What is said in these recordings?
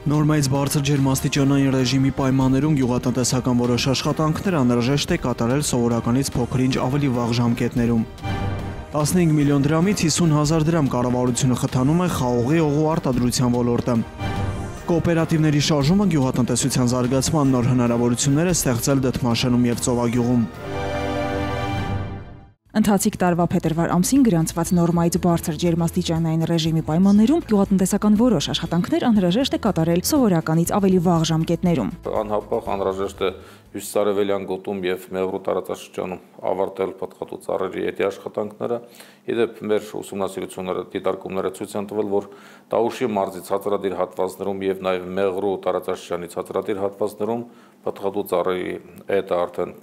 Նորմայից բարձր ջերմաստիճանային ռեժիմի պայմաններում գյուղատնտեսական որոշ աշխատանքներ անհրաժեշտ է կատարել սովորականից փոքր-ինչ ավելի վաղ ժամկետներում։ 15 միլիոն դրամից 50,000 դրամ կառավարությունը խթանում է խաղողի օղու արտադրության ոլորտը։ Կոոպերատիվների շարժումը գյուղատնտեսության զարգացման նոր հնարավորություններ է ստեղծել Դդմաշենում և Ծովագյուղում։ Ընթացիկ տարվա փետրվար ամսին գրանցված նորմայից բարձր ջերմաստիճանային ռեժիմի պայմաններում գյուղատնտեսական որոշ աշխատանքներ անհրաժեշտ է կատարել սովորականից ավելի վաղ ժամկետներում։ Անհապաղ անհրաժեշտ է հյուսիսարևելյան գոտում և Մեղրու տարածաշրջանում ավարտել պտղատու ծառերի էդի աշխատանքները։ Իդեպ մեր ուսումնասիրությունները, դիտարկումները ցույց են տվել, որ Տաուշի մարզի ցածրադիր հատվածներում և նաև Մեղրու տարածաշրջանի ցածրադիր հատվածներում պտղատու ծառերի էդը արդեն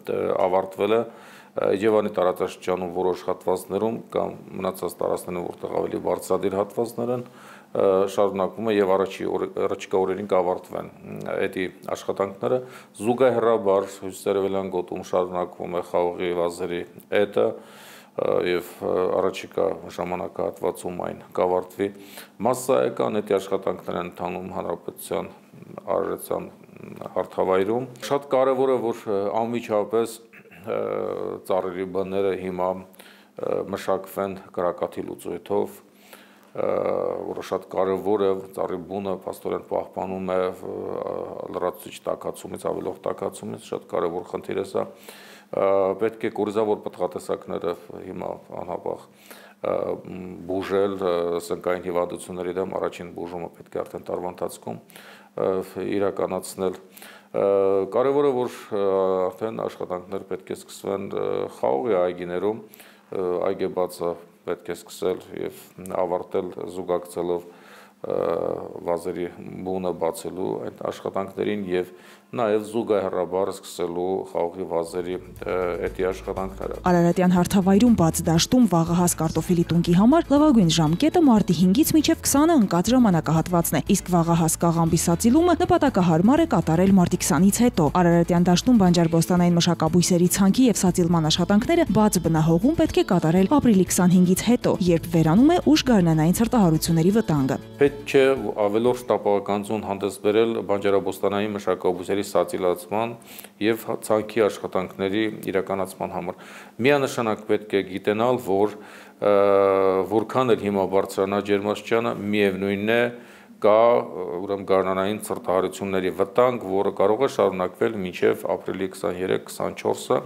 ավարտվել է։ Եվանի տարածաշրջանում որոշ հատվածներում կամ մնացած տարածքներում, որտեղ ավելի բարձրադիր հատվածներ են, շարունակվում է եւ առաջիկա օրերին կավարտվեն էդի աշխատանքները։ Զուգահեռաբար հյուսիսարևելյան գոտում շարունակվում է խաղողի վազերի էդը եւ առաջիկա ժամանակահատվածում այն կավարտվի։ Մասսայական էդի աշխատանքներ են ընթանում հանրապետության արարեցան հարթավայրում։ Շատ կարեւոր է, որ անմիջապես ծառերի բները հիմա մշակվեն կրակաթի լուծույթով, որը շատ կարևոր է, ծառի բունը փաստորեն պահպանում է լրացուցիչ տաքացումից, ավելող տաքացումից, շատ կարևոր խնդիր է սա։ Պետք է կորիզավոր պտղատեսակները հիմա անհապաղ բուժել սնկային հիվանդությունների դեմ, առաջին բուժումը պետք է արդեն տարվա ընթացքում իրականացնել։ Կարևոր է, որ արդեն աշխատանքներ պետք է սկսվեն խաղողի այգիներում, այգեբացը պետք է սկսել և ավարտել զուգակցելով վազերի բունը բացելու այդ աշխատանքներին և նաև զուգահեռաբար սկսելու խաղողի վազերի էդի աշխատանքները։ Արարատյան հարթավայրում բաց դաշտում վաղահաս կարտոֆիլի տնկի համար լավագույն ժամկետը մարտի 5-ից մինչև 20-ը ընկած ժամանակահատվածն է, իսկ վաղահաս կաղամբի սածիլումը նպատակահարմար է կատարել մարտի 20-ից հետո։ Արարատյան դաշտում բանջարբոստանային մշակաբույսերի ցանքի և սածիլման աշխատանքները բաց բնահողում պետք է կատարել ապրիլի 25-ից հետո, երբ վերանում է ուշ գարնանային ցրտահարությունների վտանգը։ Պետք չէ ավելորդ տապակականություն հանդես բերել բանջարաբոստանային մշակաբույսերի սածիլացման և ցանքի աշխատանքների իրականացման համար։ Միանշանակ պետք է գիտենալ, որ որքան էլ հիմա բարձրանա ջերմաստիճանը, միևնույնն է կա ուրեմն գարնանային ցրտահարությունների վտանգ, որը կարող է շարունակվել մինչև ապրիլի 23-24-ը,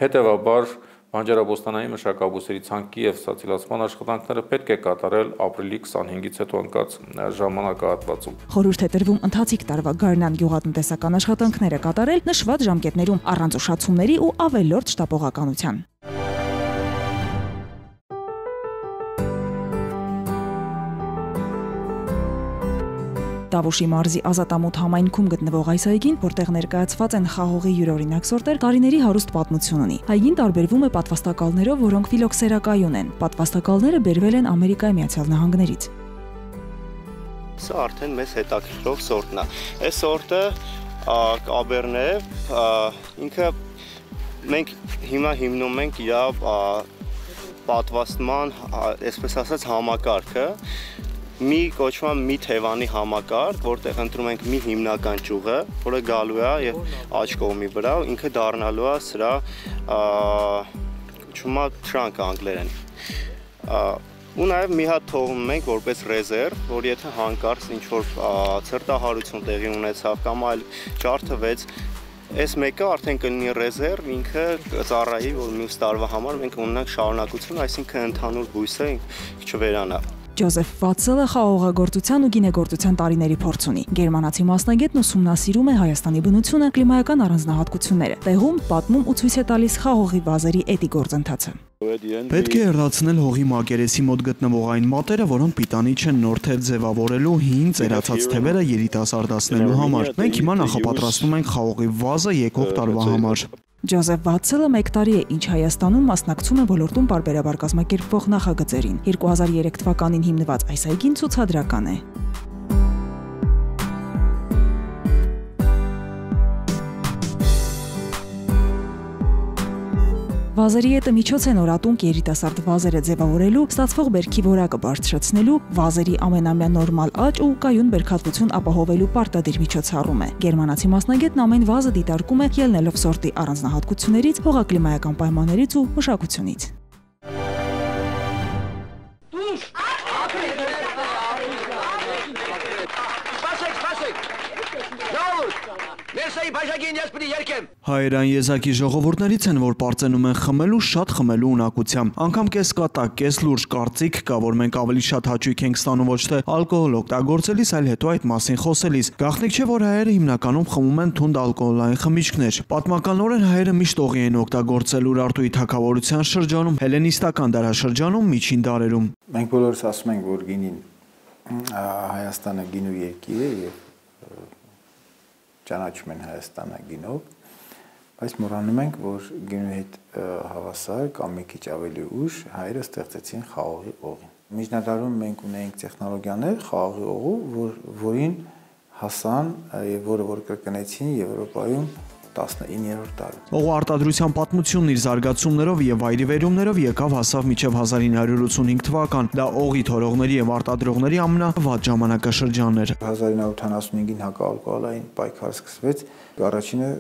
հետևաբար բանջարաբոստանային մշակաբույսերի ցանքի և սածիլացման աշխատանքները պետք է կատարել ապրիլի 25-ից հետո ընկած ժամանակահատվածում։ Խորհուրդ է տրվում ընթացիկ տարվա գարնան գյուղատնտեսական աշխատանքները կատարել նշված ժամկետներում առանց ուշացումների ու ավելորդ շտապողականության։ Տավուշի մարզի Ազատամուտ համայնքում գտնվող այս այգին, որտեղ ներկայացված են խաղողի յուրօրինակ սորտեր, տարիների հարուստ պատմություն ունի։ Այգին տարբերվում է պատվաստակալներով, որոնք ֆիլոքսերակայուն են։ Պատվաստակալները բերվել են Ամերիկայի Միացյալ Նահանգներից։ Սա արդեն մեզ հետաքրքրող սորտն է։ Այս սորտը կաբերն է, ինքը մենք հիմա հիմնում ենք իր պատվաստման, այսպես ասած, համակարգը։ Մի կոչվում մի թևանի համակարգ, որտեղ ընտրում ենք մի հիմնական ճյուղը, որը գալու է եւ աջ կողմի վրա, ինքը դառնալու է սրա կոչվում է trunk անգլերեն։ Ու նաեւ մի հատ թողնում ենք որպես ռեզերվ, որ եթե հանկարծ ինչ-որ ցրտահարություն տեղի ունեցավ կամ այլ ջարդվեց, այս մեկը արդեն կլինի ռեզերվ, ինքը ծառայի, որ մյուս տարվա համար մենք ունենանք շարունակություն, այսինքն ընդհանուր բույսը չվերանա։ Ջոզեֆ Վատսելը խաղողագործության ու գինեգործության տարիների փորձ ունի։ Գերմանացի մասնագետն ուսումնասիրում է Հայաստանի բնությունը, կլիմայական առանձնահատկությունները։ Տեղում պատմում ու ցույց է տալիս խաղողի վազերի էդի գործընթացը։ Պետք է հեռացնել հողի մակերեսի մոտ գտնվող այն մատերը, որոնք պիտանի չեն նոր թև ձևավորելու, հին ծերացած թևերը երիտասարդացնելու համար։ Մենք հիմա նախապատրաստում ենք խաղողի վազը եկող տարվա համար։ Ջոզեֆ Վատսելը 1 տարի է, ինչ Հայաստանում մասնակցում է ոլորտում պարբերաբար կազմակերպվող նախագծերին։ 2003 թվականին հիմնված այս այգին ցուցադրական է։ Վազերի հետը միջոց են օրատունկ երիտասարդ վազերը ձևավորելու, ստացվող բերքի որակը բարձրացնելու, վազերի ամենամյա նորմալ աճ ու կայուն բերքատվություն ապահովելու պարտադիր միջոցառում է։ Գերմանացի մասնագետն ամեն վազը դիտարկում է ելնելով սորտի առանձնահատկություններից, հողակլիմայական պայմաններից ու մշակությունից։ Հայերան եզակի ժողովուրդներից են, որ պարծենում են խմելու շատ խմելու ունակությամբ։ Անգամ կես կատակ, կես լուրջ կարծիք կա, որ մենք ավելի շատ հաճույք ենք ստանում ոչ թե ալկոհոլ օգտագործելիս, այլ հետո այդ մասին խոսելիս։ Գաղտնիք չէ, որ հայերը հիմնականում խմում են թունդ ալկոհոլային խմիչքներ։ Պատմականորեն հայերը միշտ օղի են օգտագործել Ուրարտուի թագավորության շրջանում, հելենիստական դարաշրջանում, միջին դարերում։ Մենք բոլորս ասում ենք, որ գինին Հայաստանը գինու երկիր է եւ ճանաչում են Հայաստանը գինով, բայց մոռանում ենք, որ գինու հետ հավասար կամ մի քիչ ավելի ուշ հայերը ստեղծեցին խաղողի օղին։ Միջնադարում մենք ունեինք տեխնոլոգիաներ խաղողի օղու, որին հասան եւ որը որ կրկնեցին Եվրոպայում 19-րդ դարում։ Օղու արտադրության պատմությունն իր զարգացումներով եւ վայրիվերումներով եկավ հասավ մինչեւ 1985 թվական։ Դա օղի թորողների եւ արտադրողների ամենավատ ժամանակաշրջանն էր։ 1975-ին հակաալկոհոլային պայքար սկսվեց, առաջինը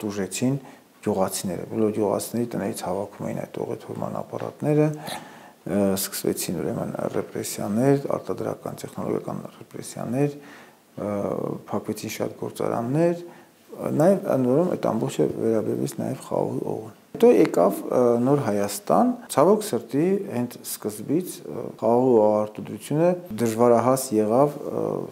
տուժեցին գյուղացիները։ Բոլոր գյուղացիների տներից հավաքում էին այդ օղի թորման ապարատները, սկսվեցին ուրեմն ռեպրեսիաներ, արտադրական տեխնոլոգիական ռեպրեսիաներ, փակվեցին շատ գործարաններ, նաև անորոմ այդ ամբողջը վերաբերվեց նաև խաղողի օղուն։ Հետո եկավ նոր Հայաստան, ցավոք սրտի հենց սկզբից խաղողի արտադրությունը դժվարահաս եղավ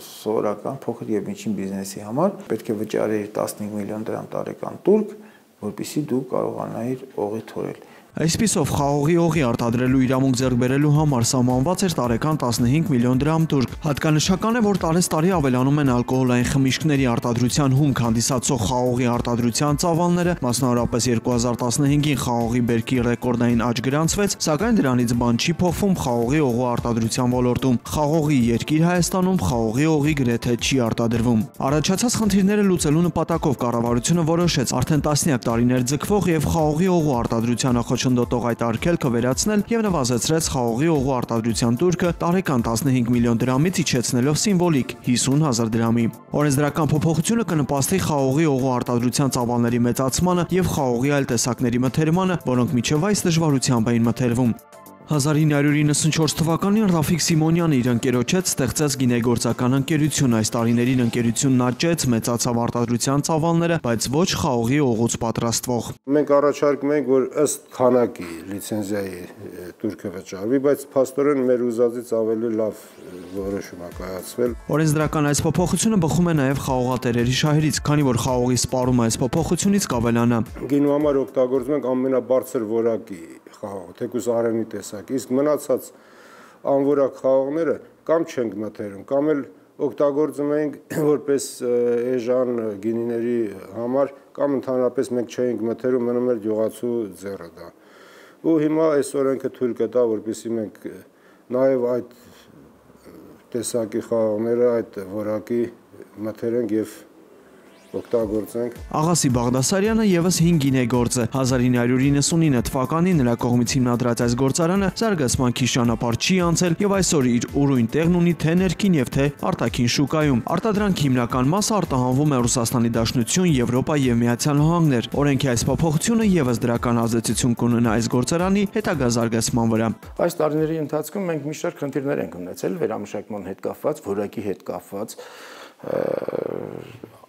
սովորական փոքր եւ միջին բիզնեսի համար, պետք է վճարեիր 15 միլիոն դրամ տարեկան տուրք, որպեսզի դու կարողանայիր օղի թորել։ Այսպիսով խաղողի օղի արտադրելու իրավունք ձեռք բերելու համար սահմանված էր տարեկան 15 միլիոն դրամ տուրք։ Հատկանշական է, որ տարեստարի ավելանում են ալկոհոլային խմիչքների արտադրության հումք հանդիսացող խաղողի արտադրության ծավալները, մասնավորապես 2015-ին խաղողի բերքի ռեկորդային աճ գրանցվեց, սակայն դրանից բան չի փոխվում խաղողի օղու արտադրության ոլորտում։ Խաղողի երկիր Հայաստանում խաղողի օղի գրեթե չի արտադրվում։ Առաջացած խնդիրները լուծելու նպատակով կառավարությունը որոշեց արդեն տասնյակ տարիներ ձգվող եւ խաղողի օղու արտադրության խոչընդոտող այդ արգելքը վերացնել եւ նվազեցրեց խաղողի օղու արտադրության տուրքը տարեկան 15 միլիոն դրամից իջեցնելով սիմվոլիկ 50,000 դրամի։ Օրենսդրական փոփոխությունը կնպաստի խաղողի օղու արտադրության ծավալների մեծացմանը եւ խաղողի այլ տեսակների մթերմանը, որոնք մինչեւ այս դժվարությամբ էին մթերվում։ 1994 թվականին Ռաֆիկ Սիմոնյանը իր ընկերոջ հետ ստեղծեց գինեգործական ընկերություն։ Այս տարիներին ընկերությունն աճեց, մեծացավ արտադրության ծավալները, բայց ոչ խաղողի օղուց պատրաստվող։ Մենք առաջարկում ենք, որ ըստ քանակի լիցենզիայի տուրքը վճարվի, բայց փաստորեն մեր ուզածից ավելի լավ որոշում է կայացվել։ Օրենսդրական այս փոփոխությունը բխում է նաև խաղողատերերի շահերից, քանի որ խաղողի սպառումը այս փոփոխությունից կավելանա։ Գինու համար օգտագործում ենք ամենաբարձր որակի խաղող, թեկուզ արենի տեսակ, իսկ մնացած անորակ խաղողները կամ չենք մթերում, կամ էլ օգտագործում ենք որպես էժան գինիների համար, կամ ընդհանրապես մենք չենք մթերում, մնում էր գյուղացու ձեռը դա։ Ու հիմա այս օրենքը թույլ կտա, որպեսզի մենք նաև այդ տեսակի խաղողները, այդ որակի մթերենք եւ օգտագործենք։ Աղասի Բաղդասարյանը եւս 5 գինեգործ է։ 1999 թվականին նրա կողմից հիմնադրած այս գործարանը զարգացման քիչ ճանապարհ չի անցել եւ այսօր իր ուրույն տեղն ունի թե ներքին եւ թե արտաքին շուկայում։ Արտադրանքի հիմնական մասը արտահանվում է Ռուսաստանի Դաշնություն, Եվրոպա եւ Միացյալ Նահանգներ։ Օրենքի այս փոփոխությունը եւս դրական ազդեցություն կունենա այս գործարանի հետագա զարգացման վրա։ Այս տարիների ընթացքում մենք մի շարք խնդիրներ ենք ունեցել վերամշակման հետ կապված, որակի հետ կապված,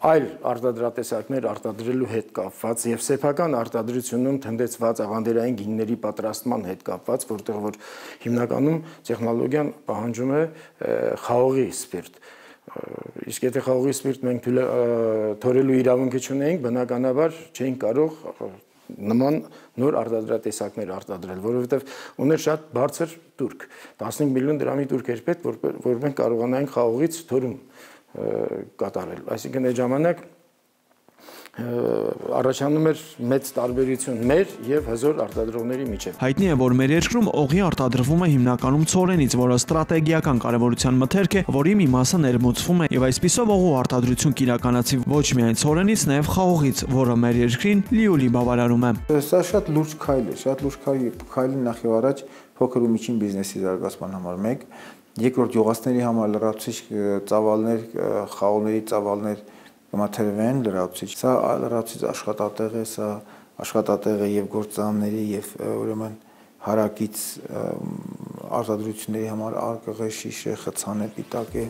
այլ արտադրատեսակներ արտադրելու հետ կապված եւ սեփական արտադրությունում թնդեցված աղանդերային գինների պատրաստման հետ կապված, որտեղ որ հիմնականում տեխնոլոգիան պահանջում է խաղողի սպիրտ։ Իսկ եթե խաղողի սպիրտ մենք թորելու իրավունքը չունեինք, բնականաբար չէինք կարող նման նոր արտադրատեսակներ արտադրել, որովհետև ուներ շատ բարձր տուրք, 15 միլիոն դրամի տուրք էր պետք, որ մենք կարողանայինք խաղողից թորում կատարել։ Այսինքն այդ ժամանակ առաջանում էր մեծ տարբերություն մեր եւ հզոր արտադրողների միջեւ։ Հայտնի է, որ մեր երկրում օղի արտադրվում է հիմնականում ցորենից, որը ստրատեգիական կարևորության մթերք է, որի մի մասը ներմուծվում է եւ այսպիսով օղու արտադրություն կիրականացի ոչ միայն ցորենից, նաեւ խաղողից, որը մեր երկրին լիոլի բավարարում է։ Սա շատ լուրջ քայլ է, շատ լուրջ քայլ նախ եւ առաջ փոքր ու միջին բիզնեսի զարգացման համար մեկ, երկրորդ յուղացների համար լրացուցիչ ծավալներ, խաղողների ծավալներ կմաթերվեն լրացուցիչ։ Սա լրացուցիչ աշխատատեղ է, սա աշխատատեղ է եւ գործարանների եւ ուրեմն հարակից արտադրությունների համար արկղ է, շիշ է, խցան է, պիտակ է։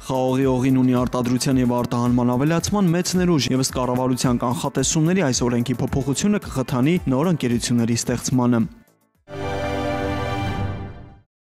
Խաղողի օղին ունի արտադրության եւ արտահանման ավելացման մեծ ներուժ եւ ըստ կառավարության կանխատեսումների այս օրենքի փոփոխությունը կխթանի նոր ընկերությունների ստեղծմանը։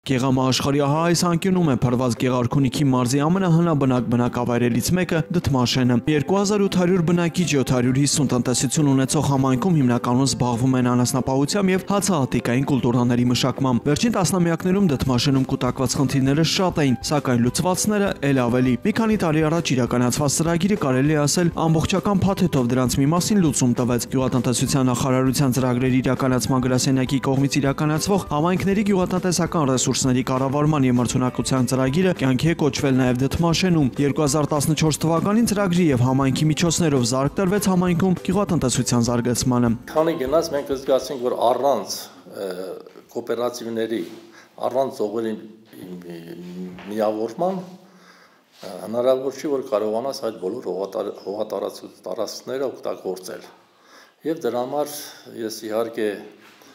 Գեղամաաշխարհի այս անկյունում է փրված Գեղարքունիքի մարզի ամենահնաբնակ բնակավայրերից մեկը Դդմաշենը։ 2800 բնակիչ 750 տնտեսություն ունեցող համայնքում հիմնականում զբաղվում են անասնապահությամբ եւ հացահատիկային կուլտուրաների մշակմամբ։ Վերջին տասնամյակներում Դդմաշենում կուտակված խնդիրները շատ էին, սակայն լուծվածները ել ավելի։ Մի քանի տարի առաջ իրականացված ծրագիրը կարելի է ասել ամբողջական փաթեթով դրանց մի մասին լուծում տվեց։ Գյուղատնտեսության նախարարության ծրագրերի իրականացման գրասենյակի կողմից իրականացվող համայնքների գյուղատնտեսական ռեսուրսների կառավարման եւ մրցունակության ծրագիրը կյանքի է կոչվել նաեւ Դդմաշենում։ 2014 թվականին ծրագրի եւ համայնքի միջոցներով զարկ տրվեց համայնքում գյուղատնտեսության զարգացմանը։ Քանի գնաց մենք զգացինք, որ առանց կոոպերատիվների, առանց օղերի միավորման հնարավոր չի, որ կարողանաս այդ բոլոր հողատարածքները օգտագործել։ Եվ դրա համար ես իհարկե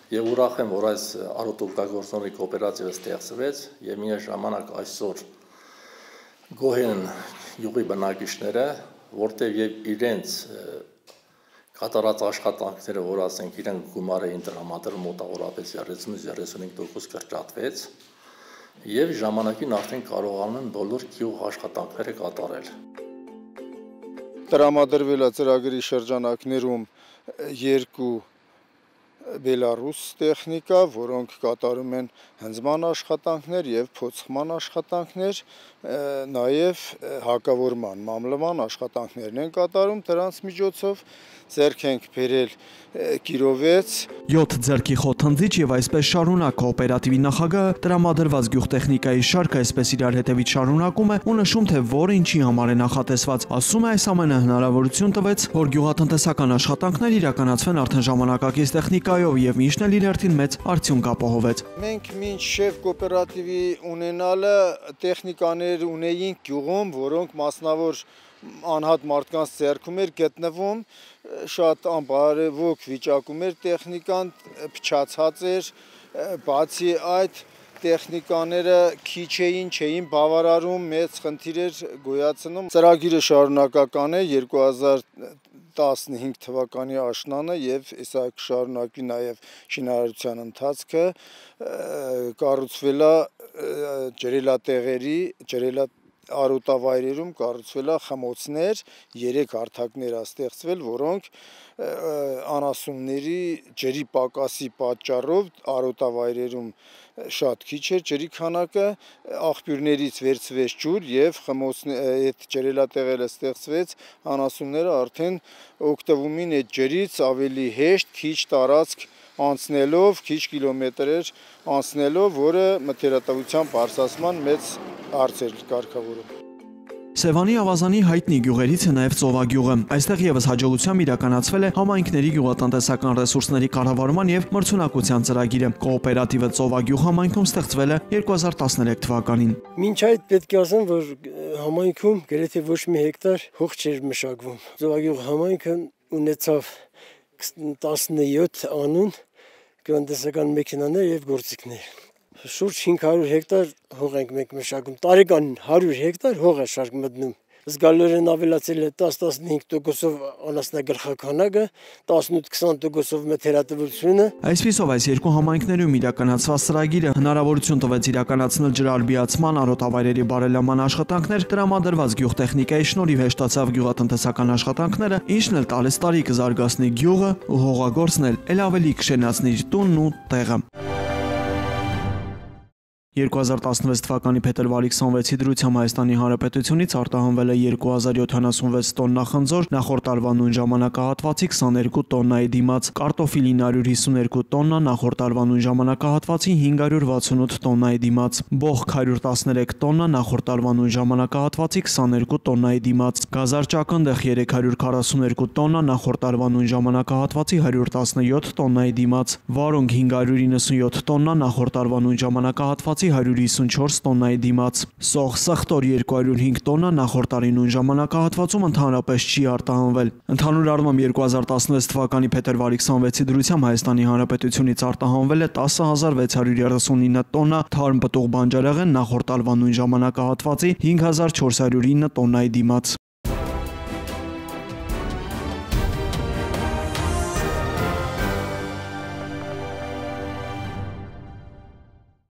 եւ ուրախ եմ, որ այս արոտօգտագործողների կոոպերատիվը ստեղծվեց եւ միաժամանակ այսօր գոհ են յուղի բնակիչները, որտեղ եւ իրենց կատարած աշխատանքները, որ ասենք իրենք գումար էին տրամադրում մոտավորապես 30-35% կրճատվեց եւ ժամանակին արդեն կարողանում են բոլոր գյուղ աշխատանքները կատարել։ Տրամադրվել է ծրագրի շրջանակներում 2 Բելարուս տեխնիկա, որոնք կատարում են հնձման աշխատանքներ եւ փոփոխման աշխատանքներ, նաեւ հակավորման, մամլման աշխատանքներն են կատարում, դրանց միջոցով ձեռք ենք բերել կիրովեց 7 ձեռքի խոթանձիչ եւ այսպես շարունակ կոոպերատիվի նախագահը տրամադրված գյուղտեխնիկայի շարքը այսպես իրար հետևից շարունակում է ու նշում թե որը ինչի համար է նախատեսված, ասում է այս ամենը հնարավորություն տվեց, որ գյուղատնտեսական աշխատանքներ իրականացվեն արդեն ժամանակակից տեխնիկայով եւ միշտ էլ իր հերթին մեծ արդյունք ապահովեց։ Մենք մինչև կոոպերատիվի ունենալը տեխնիկաներ ունեինք գյուղում, որոնք մասնավոր անհատ մարդկանց ձեռքում էր գտնվում, շատ անբարևոք վիճակում էր տեխնիկան, փչացած էր, բացի այդ տեխնիկաները քիչ չէին բավարարում, մեծ խնդիր էր գոյացնում։ Ծրագիրը շարունակական է 2015 թվականի աշնանը եւ սա կշարունակվի նաեւ շինարարության ընթացքը, կառուցվել է ջրելատեղերի, արոտավայրերում կառուցվել է խմոցներ, 3 հարթակներ է ստեղծվել, որոնք անասունների ջրի պակասի պատճառով արոտավայրերում շատ քիչ էր ջրի քանակը, աղբյուրներից վերցվեց ջուր եւ այդ ջրելատեղերը ստեղծվեց, անասունները արդեն օգտվում են այդ ջրից ավելի հեշտ, քիչ տարածք անցնելով, քիչ կիլոմետրեր անցնելով, որը մթերատվության բարձրացման մեծ հարց էր կարգավորում։ Սևանի ավազանի հայտնի գյուղերից է նաև ծովագյուղը։ Այստեղ եւս հաջողությամբ իրականացվել է համայնքների գյուղատնտեսական ռեսուրսների կառավարման եւ մրցունակության ծրագիրը։ Կոոպերատիվը ծովագյուղ համայնքում ստեղծվել է 2013 թվականին։ Մինչ այդ պետք է ասեմ, որ համայնքում գրեթե ոչ մի հեկտար հող չէր մշակվում։ Ծովագյուղ համայնքը ունեցավ 17 անուն գյուղատնտեսական մեքենաներ եւ գործիքներ։ Շուրջ 500 հեկտար հող ենք մենք մշակում, տարեկան 100 հեկտար հող է շարք մտնում։ Զգալիորեն ավելացել է 10-15%-ով անասնագլխականակը, 18-20%-ով մթերատվությունը։ Այսպիսով այս երկու համայնքներում իրականացված ծրագիրը հնարավորություն տվեց իրականացնել ջրարբիացման, արոտավայրերի բարելավման աշխատանքներ, տրամադրված գյուղտեխնիկայի շնորհիվ հեշտացավ գյուղատնտեսական աշխատանքները, ինչն էլ տալիս տարի կզարգացնի գյուղը ու հողագործն էլ ավելի կշենացնի տունն ու տեղը։ 2016 թվականի փետրվարի 26-ի դրությամբ Հայաստանի Հանրապետությունից արտահանվել է 2076 տոննա խնձոր, նախորդ տարվա նույն ժամանակահատվածի 22 տոննայի դիմաց, կարտոֆիլի 952 տոննա, նախորդ տարվա նույն ժամանակահատվածի 568 տոննայի դիմաց, բոխ 113 տոննա, նախորդ տարվա նույն ժամանակահատվածի 22 տոննայի դիմաց, գազարճակնդեղ 342 տոննա, նախորդ տարվա նույն ժամանակահատվածի 117 տոննայի դիմաց, վարունգ 597 տոննա, նախորդ տարվա նույն ժամանակահատվածի 154 տոննայի դիմաց, սող սխտոր 205 տոննա, նախորդ տարի նույն ժամանակահատվածում ընդհանրապես չի արտահանվել։ Ընդհանուր առմամբ 2016 թվականի փետրվարի 26-ի դրությամբ Հայաստանի Հանրապետությունից արտահանվել է 10639 տոննա թարմ պտուղ բանջարեղեն, նախորդ տարվա նույն ժամանակահատվածի 5409 տոննայի դիմաց։